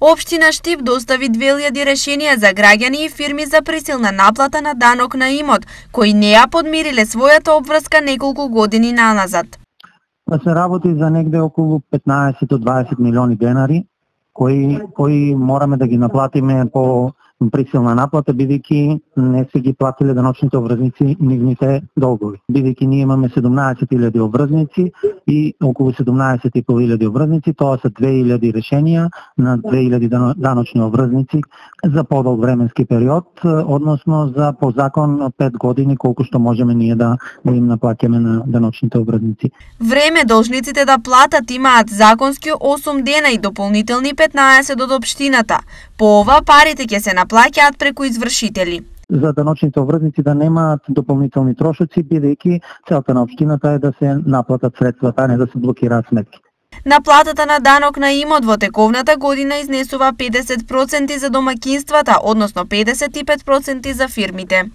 Општина Штип достави 2000 решенија за граѓани и фирми за присилна наплата на данок на имот, кои не ја подмириле својата обврска неколку години наназад. Се работи за негде околу 15 до 20 милиони денари, кои мораме да ги наплатиме по присилна наплата, бидејќи не се ги платиле даночните обврзници нивните долгови. Бидејќи ние имаме 17.000 обврзници и околу 17.500 обврзници, тоа се 2000 решенија на 2000 даночни обврзници за подолг временски период, односно за по закон 5 години колку што можеме ние да им наплаќаме на даночните обврзници. Време должниците да платат имаат законски 8 дена и дополнителни 15 од општината. По ова парите ќе се наплаќаат преку извршители. За даночните обврзници да немаат дополнителни трошоци, бидејќи целта на општината е да се наплатат средствата, а не да се блокираат сметките. Наплатата на данок на имот во тековната година изнесува 50% за домаќинствата, односно 55% за фирмите.